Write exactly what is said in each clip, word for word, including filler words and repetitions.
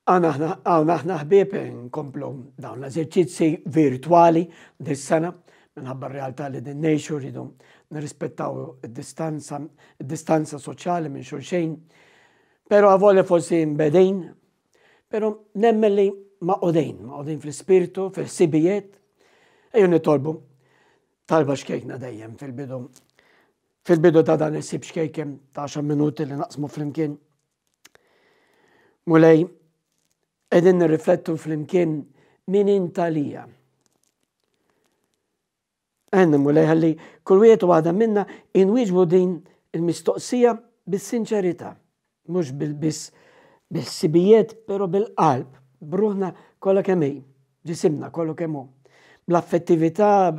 Hawn aħna ħbieb nkomplu dawn l-eżerċizzi virtwali dis-sena minħabba r-realtà li din ngħixu rridu nirrispettaw id-distanza id-distanza soċjali minn xulxin. Però avolja forsi mbegħdin, però nemmen li magħqudin, magħqudin fl-ispirtu, fil-ħsibijiet. Ejju nitolbu talba xkejkna dejjem fil-bidu fil-bidu ta' dan is-sib xkejken ta' għaxar minuti li naqsmu flimkien. Mulej, qegħdin nirriflettu flimkien min int għalija. Għenna Mulej ħalli kull wieħed u waħda minna inwieġbu din il-mistoqsija bis-sinċerità, mhux bil-biss bil-ħsibijiet, però bil-qalb, b'ruħna kollha kemm hi, ġisimna kollu kemm hu, bl-affettività,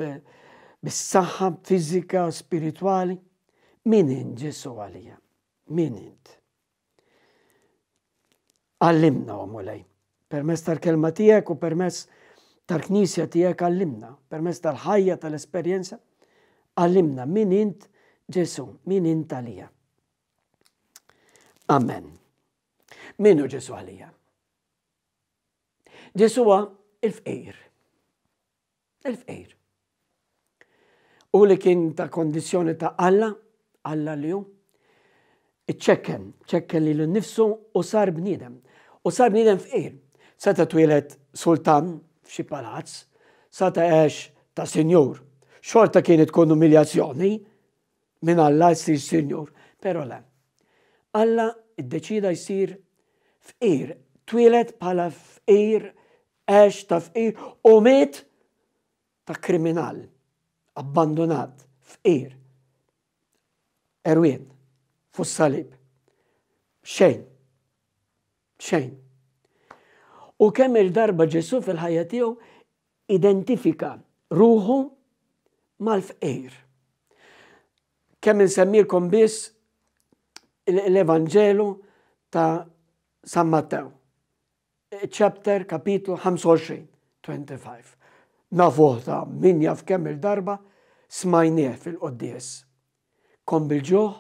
bis-saħħa fiżika, spiritwali. Min int Ġesù għalija? Min int? Għallimna, o Mulej, permezz tal-kelma tiegħek u permezz tal-Knisja tiegħek għallimna, permezz tal-ħajja tal-esperjenza, għallimna min int Ġesù, min int għalija. Amen. Min hu Ġesù għalija? Ġesù huwa il-fqir. Il-fqir. U li kien ta' kondizjoni ta' Alla, Alla li hu, iċċekken, ċekken lilu nnifsu u sar bniedem. U sar bniedem fqir. Seta twieled sultan f'xi palazz, seta għex ta' sinjur. Xorta kienet tkun umiljazzjoni minn Alla jsir sinjur, però le. Alla iddeċida jsir fqir, twieled bħala fqir, għex ta' fqir u miet ta' kriminal, abbandonat, fqir. Erwien, fuq salib. Xejn. Xejn. U kemm il-darba Ġesù fil-ħajja tiegħu identifika ruħu mal-fqir. Kemm insemmilkom biss l-Evanġelu ta' San Mattew. Chapter, kapitlu ħamsa u għoxrin, twenty-five. Nafuh ta' min jaf kemm il-darba smajnieh fil-quddies. Kont bil-ġuħ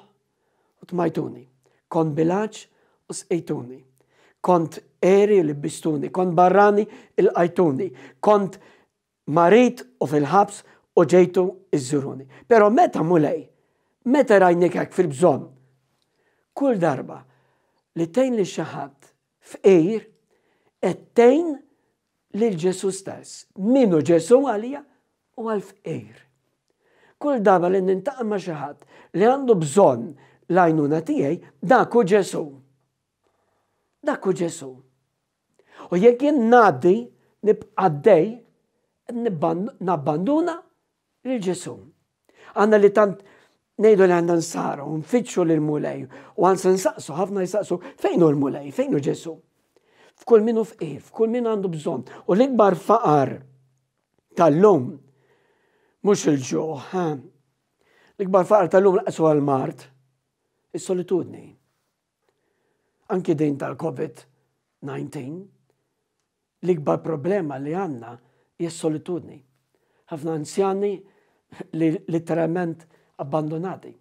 u tmajtuni, kont bil-għatx u sqejtuni, kont għeri u libbistuni, kont barrani ilqajtuni, kont marid u fil-ħabs u ġejtu iżżuruni. Però meta Mulej, meta rajnik hekk fil-bżonn, kull darba li tgħin lil xi ħadd fqir, qed tgħin lil Ġesù stess. Min hu Ġesù għalija? U għall-fqir. Kull darba li nintaqa' ma' xi ħadd li għandu bżonn l-għajnuna tiegħi, dak hu Ġesù. Dak hu Ġesù. U jekk jien ngħaddi, nibqa' għaddej, nabbanduna lil Ġesù. Għandna li tant ngħidu li għandna nsara u nfittxu lil Mulej u għandna nsaqsu, ħafna jsaqsu, fejn hu l-Mulej, fejn hu Ġesù? F'kull min hu fqir, f'kull min għandu bżonn. U l-ikbar faqar tal-lum mhux il-ġuħ, l-ikbar faqar tal-lum laqsu għal-mard, is-solitudni. Anki din tal-COVID nineteen, l-ikbar problema li għandna hija s-solitudni. Ħafna anzjani li letteralment abbandonati.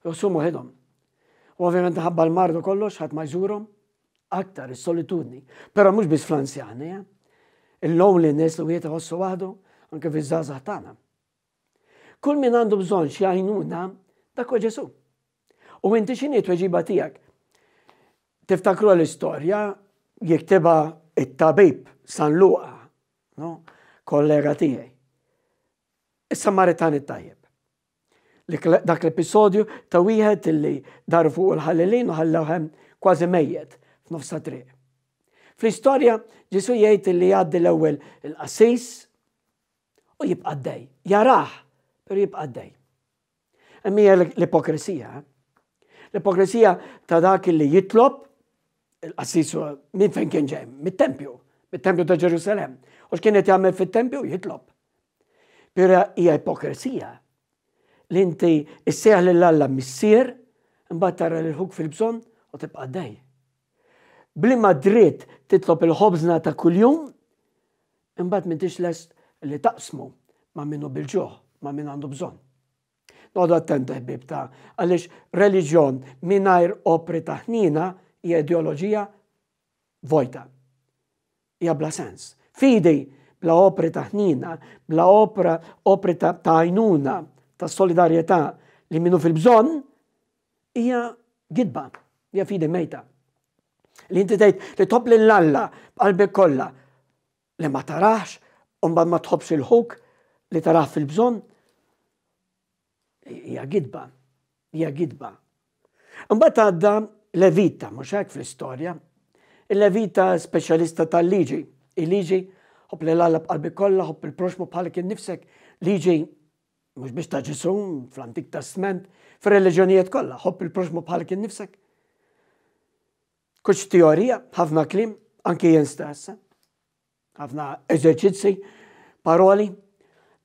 Josumu ħidhom. U ovvjament ħabba l-mard u kollox, ħadd ma jżurhom, aktar is-solitudni. Però mhux biss fl-anzjani, eh? Il-loneliness li wieħed iħossu waħdu anke fiż-żgħażagħ tagħna. Kull min għandu bżonn xi għajnuna, dak huwa Ġesù. U inti x'inhi t-tweġiba tiegħek? Tiftakru l-istorja jiktibha it-tabib San Luqa, no? Kollega tiegħi. Is-Samaritan it-tajjeb. Dak l-episodju ta' wieħed illi daru fuq il-ħallelin u ħallew hemm kważi mejjet f'nofs ta' triq. Fl-istorja Ġesù jgħid li jgħaddi l-ewwel il-qassis u jibqa' għaddej. Jarah, però jibqa' għaddej. Hemm hija l-ipokrisija. L-ipokrisija ta' dak li jitlob il-qassis minn fejn kien ġej, mit-tempju, mit-tempju ta' Ġerusalemm. U x'kien qed jagħmel fit-tempju? Jitlob. Però hija ipokrisija li inti issejjaħ lil Alla missier, imbagħad tara lil ħuk fil-bżonn u tibqa' għaddej. Bliema dritt titlob il-ħobżna ta' kuljum, imbagħad m'intix lest li taqsmu ma' min hu bil-ġuħ, ma' min għandu bżonn. Noqogħdu attenti ħbieb ta' għaliex reliġjon mingħajr opri ta' ħniena hija ideoloġija vojta. Hija bla sens. Fidi bla opri ta' ħnina, bla opra opri ta' għajnuna, ta' solidarjetà li minnu fil-bżonn, hija gidba, hija fidi mejta. Li inti tgħid li tħobb lil Alla b'qalbek kollha li ma tarax u mbagħad ma tħobbx il-ħuk li tarah fil-bżonn, hija gidba, hija gidba. Imbagħad għadda Levita, mhux hekk fl-istorja. Il-Levita speċjalista tal-liġi. Il-liġi ħobb lil Alla b'qalbek kollha, ħobb il-proxmu bħalek innifsek. Liġi mhux biex ta' Ġesù fl-Antik Testament, fir-reliġjonijiet kollha, ħobb il-proxmu bħalek innifsek. Kuċ teorija, ħafna kliem, anki jien stess. Ħafna eżerċizzi, paroli,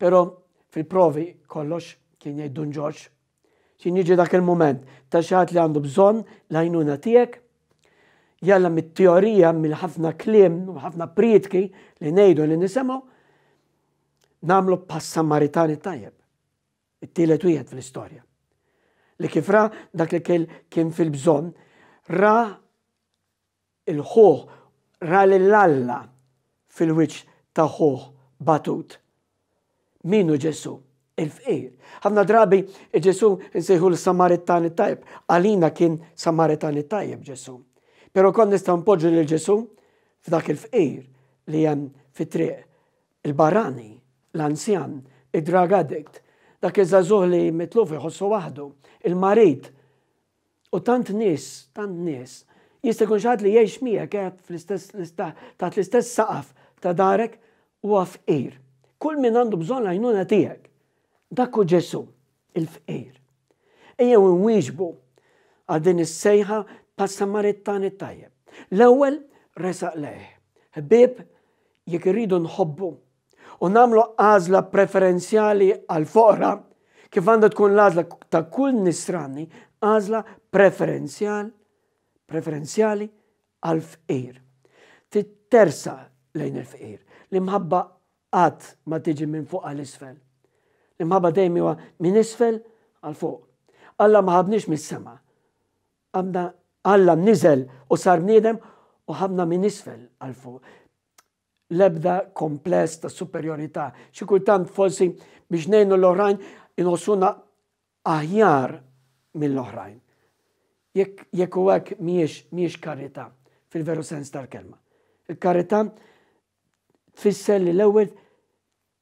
però fil-provi kollox kien jgħid Dun Ġorġ. X'ħin jiġi dak il-moment ta' xi ħadd li għandu bżonn l-għajnuna tiegħek, jalla mit-teorija, mill-ħafna kliem u ħafna prietki li ngħidu li nisimgħu, nagħmlu bħas-Samaritani tajjeb. It-tielet wieħed fl-istorja. Li kif ra dak li kien fil-bżonn, ra il-ħuħ, ra lil Alla fil-wiċċ ta' ħuħ batut. Min hu Ġesù? Il-fqir. Ħafna drabi Ġesù nsejħu l-Samaritani tajjeb. Għalina kien Samaritani tajjeb Ġesù. Però kon nistgħu npoġġu lil Ġesù f'dak il-fqir li hemm fit-triq, il-barrani, l-anzjan, id-drug addict, dak iż-żagħżugħ li mitluf iħossu waħdu, il-marid. U tant nies, tant nies, jista' jkun xi ħadd li jgħix miegħek qed fl-istess taħt l-istess saqaf ta' darek huwa fqir. Kull min għandu bżonn l-għajnuna tiegħek. Dak hu Ġesù, il-fqir. Ejjew nwieġbu għal din is-sejħa bħas-Samaritani tajjeb. L-ewwel resaq lejh. Ħbieb, jekk irridu nħobbu u nagħmlu għażla preferenzjali għal foqra, kif għandha tkun l-għażla ta' kull nisrani, għażla preferenzjal, preferenzjali għal-fqir. Tittersa lejn il-fqir. L-imħabba qatt ma tiġi minn fuq għal isfel. L-imħabba dejjem huwa minn isfel għal fuq. Alla ma ħabniex mis-sema. Għamna Alla niżel u sar bniedem u ħabna minn isfel għal fuq. L-ebda kompless ta' superjorità. Xi kultant forsi biex ngħinu l-oħrajn inħossuna aħjar mill-oħrajn. Jekk jekk u hekk mhijiex mhijiex karità fil-veru sens tal-kelma. Il-karità tfisser li l-ewwel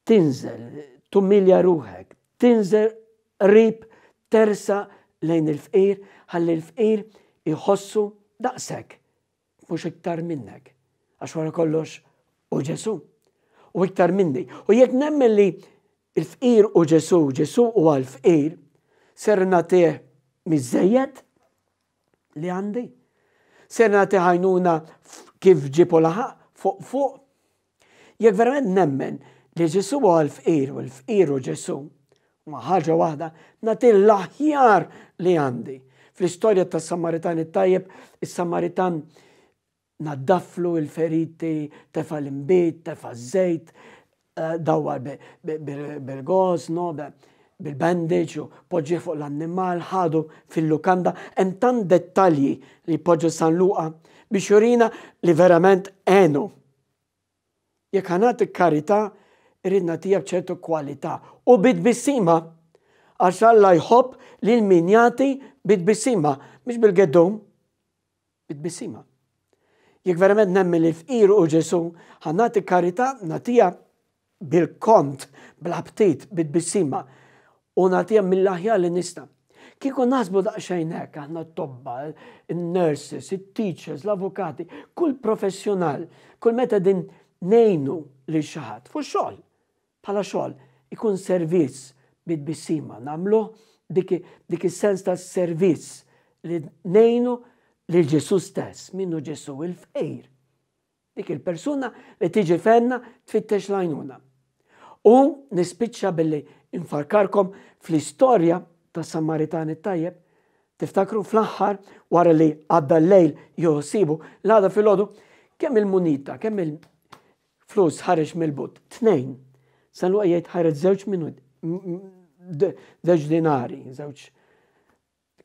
tinżel, tumilja ruħek, tinżel qrib, tersa lejn il-fqir, ħalli l-fqir iħossu daqsek, mhux iktar minnek. Għax wara kollox u Ġesù, u iktar minni. U jekk nemmen li il-fqir u Ġesù, Ġesù u għal-fqir, ser nagħtih miżejjed li għandi. Ser nagħtih għajnuna kif ġipu laħaq fuq fuq. Jekk verament nemmen li Ġesù huwa l-fqir u l-fqir u Ġesù, ma ħaġa waħda, nagħti l-aħjar li għandi. Fl-istorja tas Samaritan it-tajjeb, is-Samaritan naddaflu il-feriti, tefa l-imbit, tefa żejt, dawwar bil-goz, no, bil-bandage, u poġġi fuq l-annimal, ħadu fil-lukanda. Hemm tant dettalji li poġġu San Luqa biex jurina li verament għenu. Jekk ħa nagħti karità, irrid nagħtiha b'ċertu kwalità u bit-tbissima, għax Alla jħobb lil min jagħti bit-tbissima, mhux bil-geddum, bit-tbissima. Jekk verament nemmen li l-fqir u Ġesù, ħa nagħti karità, nagħtiha bil-kont, bl-aptit, bit-tbissima, u nagħtiha mill-aħjar li nista'. Kieku naħsbu daqsxejn hekk, aħna t-tobba, in-nurses, it-teachers, l-avukati, kull professjonal, kull meta din ngħinu lil xi ħadd fuq xogħol, bħala xogħol, ikun servizz bit-tbissima, nagħmlu dik, dik is-sens ta' servizz li ngħinu lil Ġesù stess, minnu Ġesù il-fqir. Dik il-persuna li tiġi fenna tfittex l-għajnuna. U nispiċċa billi infarkarkom fl-istorja ta' Samaritan it-tajjeb. Tiftakru fl-aħħar wara li għadda l-lejl joħsibu, l-għada filgħodu, kemm il-munita, kemm il-flus ħareġ mill-but? Tnejn. San Luqa jgħid ħareġ żewġ minut, żewġ dinari, żewġ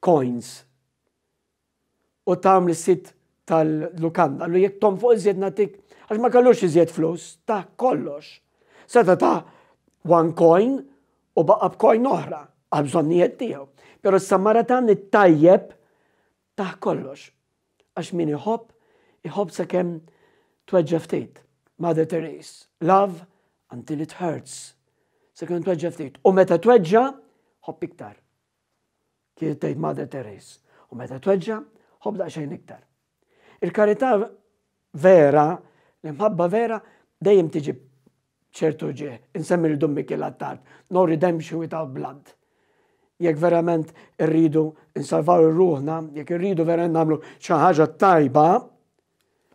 coins. U tam li sit tal-lukanda, qallu jekk tonfoq iżjed nagħtik, għax ma kellux iżjed flus, ta kollox. Seta' ta one coin u baqa' b'coin oħra għal bżonnijiet tiegħu. Però s-Samaritan it-tajjeb ta kollox. Għax min iħobb, iħobb sakemm tweġġa' ftit. Mother Therese, "Love until it hurts." Sakemm tweġġa' ftit. U meta tweġġa', ħobb iktar. Kienet tgħid Mother Therese. U meta tweġġa', ħobb daqsxejn iktar. Il-karità vera, l-imħabba vera, dejjem tiġi ċertu uġigħ. Insemmi lil Dun Mikiel Attard, "No redemption without blood." Jekk verament irridu nsalvaw ruħna, jekk irridu verament nagħmlu xi ħaġa tajba,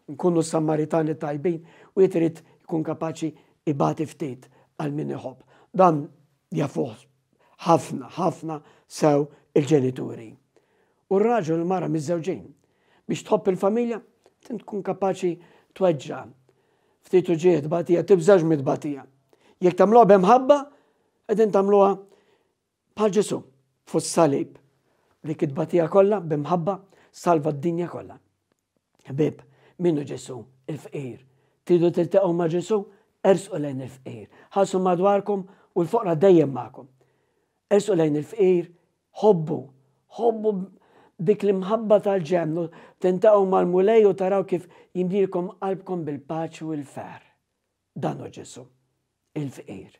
nkunu Sammaritani tajbin, u jrid ikun kapaċi ibati ftit għal min iħobb. Dan jafuh ħafna, ħafna sew il-ġenituri. U r-raġel u l-mara miżżewġin. Biex tħobb il-familja, trid tkun kapaċi tweġġa'. Ftit uġigħ, tbatija, tibżax mit-tbatija. Jekk tagħmluha b'imħabba, qegħdin tagħmluha bħal Ġesù fuq salib. Dik it-tbatija kollha b'imħabba salva d-dinja kollha. Ħbieb, min hu Ġesù? Il-fqir. Tridu tiltaqgħu ma' Ġesù? Ersqu lejn il-fqir. Ħarsu madwarkom u l-foqra dejjem magħkom. Ersqu lejn il-fqir, ħobbu, ħobbu dik l-imħabba tal-ġenn, tiltaqgħu mal-Mulej u taraw kif jimlielkom qalbkom bil-paċi u l-ferħ. Dan hu Ġesù, il-fqir.